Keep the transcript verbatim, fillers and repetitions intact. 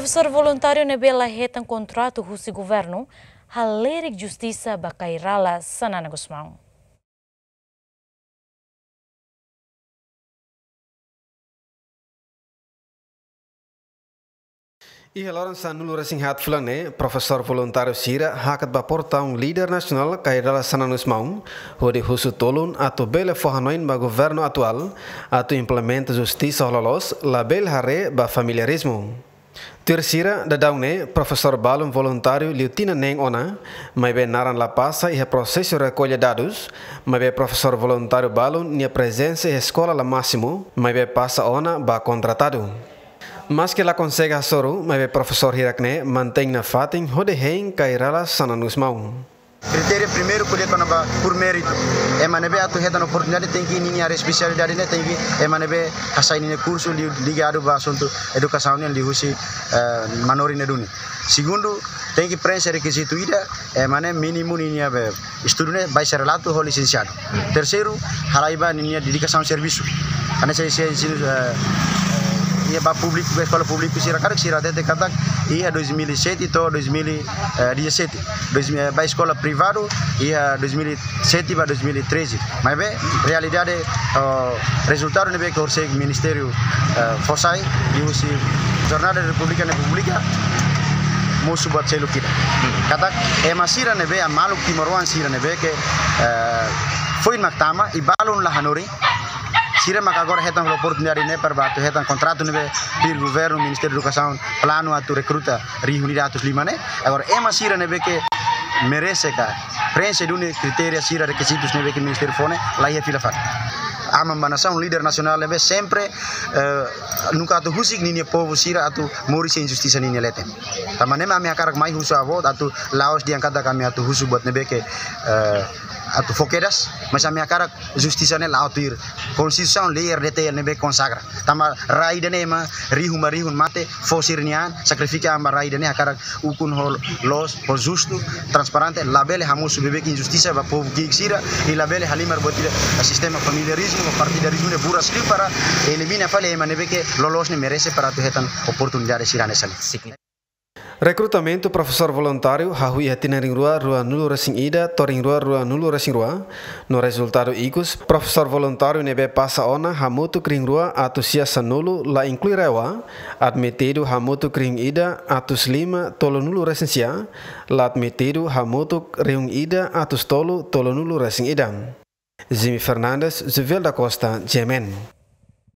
Profesór voluntáriu ne'ebé la hetan kontratu husi governu halerik justisa ba Kay Rala Xanana Gusmão. Iha loron sanulu-resin-haat fulan ne'e, profesór voluntáriu sira hakat ba portaun líder nasionál Kay Rala Xanana Gusmão, hodi husu tulun atu bele fó hanoin ba governu atuál atu implementa justisa ho loloos, labele haree ba familiarizmu. Tuir sira, daudaun ne'e profesór balun voluntáriu liu tinan neen ona, maibé naran la pasa iha prosesu rekolla dadus, maibé profesór voluntáriu balun nia prezensa iha eskola la másimu, maibé pasa ona ba kontratadu. Maske la konsege hasoru, maibé profesór hirak-ne'e mantein nafatin hodi hein Kay Rala Xanana Gusmão. Kritéria primeiru ko'alia kona-ba por mérito. Ema ne'ebé atu hetan oportunidade tenke ninia área espesialidade ne'e tenke ema ne'ebé hasai ninia kursu liu ligadu ba asuntu edukasaun nian liuhusi, eh, manorin ne'e duni. Segundu, tenke prenxe rekizitu ida, ema ne'e mínimu ninia be estudu ne'e baixa relatu ho lisensiadu. Terseiru, halai ba ninia dedikasaun servisu. Hanesan ensinu, eh, eh, iha ba públiku, eskola públiku sira karik sira hatete katak iha dois mil e sete to'o dois mil e dezassete. Dois mil, eh, ba eskola privadu iha dois mil e sete ba dois mil e treze. Maibé realidade, oh, rezultadu ne'ebé ke horisehik Ministériu, eh, fó sai liuhusi Jornál da Repúblika ne'e publika, mosu buat seluk ida. Katak ema sira ne'ebé, maluk timoroan sira ne'ebé ke, eh, foin mak tama i balun la hanorin, sira mak agora hetan oportunidade ne'e para ba atu hetan kontratu ne'ebé tuir governu, Ministériu Edukasaun planu atu rekruta rihun ida atus lima ne'e. Agora ema sira ne'ebé ke merese ka prenxe duni kritéria sira, rekizitus ne'ebé ke ministériu fó ne'e, la iha fila fali. Aman ba nasaun, líder nasionál ne'ebé sempre, eh, nunka atu husik ninia povu sira atu moris iha injustisa ninia leten. Tanba ne'e mak ami hakarak mai husu avó atu la'ós dehan katak ami atu husu buat ne'ebé ke, eh, atu fó kedas, mas ami hakarak justisa ne'e la'o tuir Konstituisaun, lei R D T L ne'ebé konsagra. Tanba rai ida-ne'e ema rihun ba rihun mate, fó sira-nia an, sakrifika an ba rai ida-ne'e hakarak ukun ho loos, ho justu, transparente, labele hamosu beibeik injustisa ba povu ki'ik sira, i labele halimar buat ida sistema familiarizmu, partidarizmu ne'e buras liu para elimina fali ema ne'ebé ke loloos ne'e merese para atu hetan oportunidade sira hanesan ne'e. Rekrutamentu profesór voluntáriu hahú iha tinan rihun rua ruanulu-resin-ida to'o rihun rua ruanulu-resin-rua, no rezultadu ikus, profesór voluntáriu ne'ebé pasa ona hamutuk rihun rua atus sia sanulu, la inklui RAEOA, admitidu hamutuk rihun ida atus lima tolunulu-resin-sia, la admitidu hamutuk rihun ida atus tolu tolunulu-resin-ida. Jimmy Fernandes, Juvel da Costa, G M N.